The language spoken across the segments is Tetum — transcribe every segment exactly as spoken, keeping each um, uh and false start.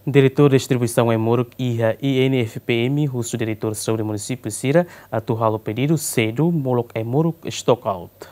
Diretór Distribuisaun Ai-Moruk iha I N F P M husu diretór saúde munisípiu sira atu halo pedidu sedu molok ai-moruk stock out.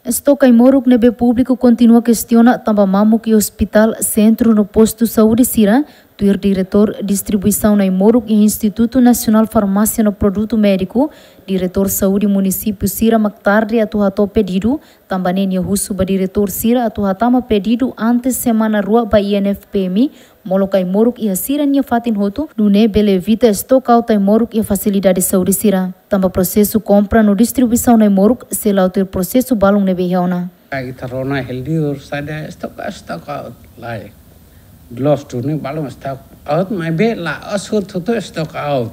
Estoke ai-moruk ne'ebé públiku kontinua kestiona tanba mamuk iha ospitál, sentru no postu saúde sira, tuir diretór distribuisaun ai-moruk iha Institutu Nasionál Farmásia no Produtu Médiku, diretór saúde munisípiu sira mak tarde atu hato'o pedidu, tanba ne'e nia husu ba diretór sira atu hatama pedidu antes semana rua ba I N F P M, molok ai-moruk iha sira-nia fatin hotu, nune'e bele evita stock out ai-moruk iha fasilidade saúde sira. Tanba prosesu kompra no distribuisaun ai-moruk sei la'o tuir prosesu balun ne'ebé iha ona. Ita rona hela liur saida stock, stock out lae. Gloves duni balun stock out, maibé la'ós hotu-hotu stock out.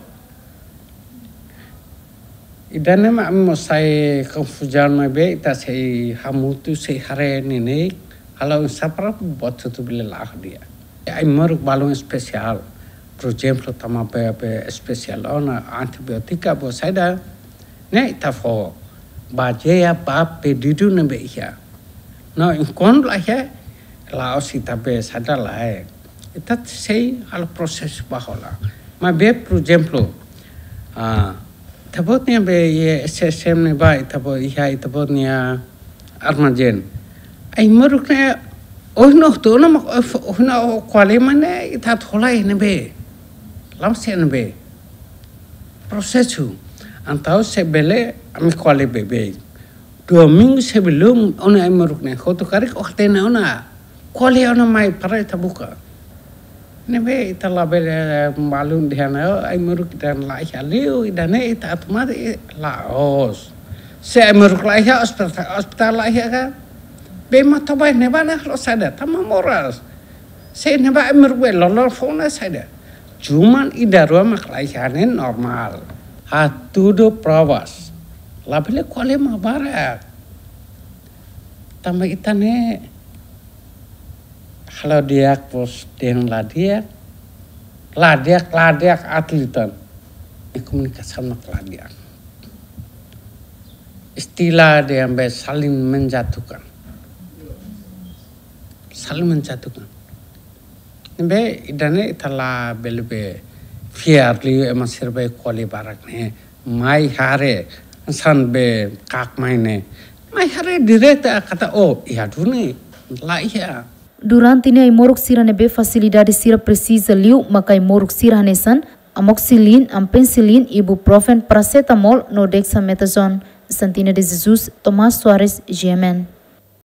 Ida-ne'e mak ami mós sai konfuzaun, maibé ita sei hamutuk, sei haree neineik, halo oinsá para buat hotu bele la'o di'ak. Ai-moruk balun espesiál, por ezemplu, tama bee, bee espesiál ona, antibiotika, buat saida, ne'e ita fó, bazeia ba pedidu ne'ebé iha. No, enkuantu la iha, la'ós ita bee saida lae. Ita sei halo prosesu ba hola. Maibé, por ezemplu, ah, ita-boot nia bee iha S S M ne'ebá, ita-boot iha, ita-boot nia armazén. Ai-moruk ne'e, ohin no tu na mak, ohin no ko'alia mak ne'e, ita atu hola iha ne'ebé. La'ós iha ne'ebé. Prosesu. Entaun se bele, ami ko'alia beibeik. Domingu sebelum ona ai-moruk ne'e hotu karik, oke, hatene ona. Ko'alia ona mai para ita buka. Ne'ebé ita labele balun dehan, oh, ai-moruk ida-ne'e la iha liu, ida-ne'e ita atu mate, la'ós. Se ai-moruk la iha, ospitál, ospitál la iha ka? Bee mak toba iha ne'ebá, ne'e halo saida, tama moras. Se ne'ebá ai-moruk bee loroloron foun ne'e saida. Cuman ida rua mak la iha ne'e normál. Hatudu provas. Labele ko'alia mak barak. Tanba ita-nia halo di'ak, bos, dehan la di'ak. La di'ak, la di'ak, atletan. Komunikasaun mak la di'ak. Istilah dehan bee saling menjatuhkan. Saling menjatuhkan. Ne'ebé ida-ne'e ita labele bee fiar liu ema sira bee ko'alia barak ne'e. Mai haree, hanesan bee kak mai ne'e. Mai haree direta katak, oh, iha duni, la iha. Durante ne'e ai-moruk sira ne'ebé fasilidade sira presiza liu maka ai-moruk sira hanesan amoxicilin, ampicilin, ibuprofen, paracetamol no dexamethasone. Santina de Jesus, Tomás Soares, G M N.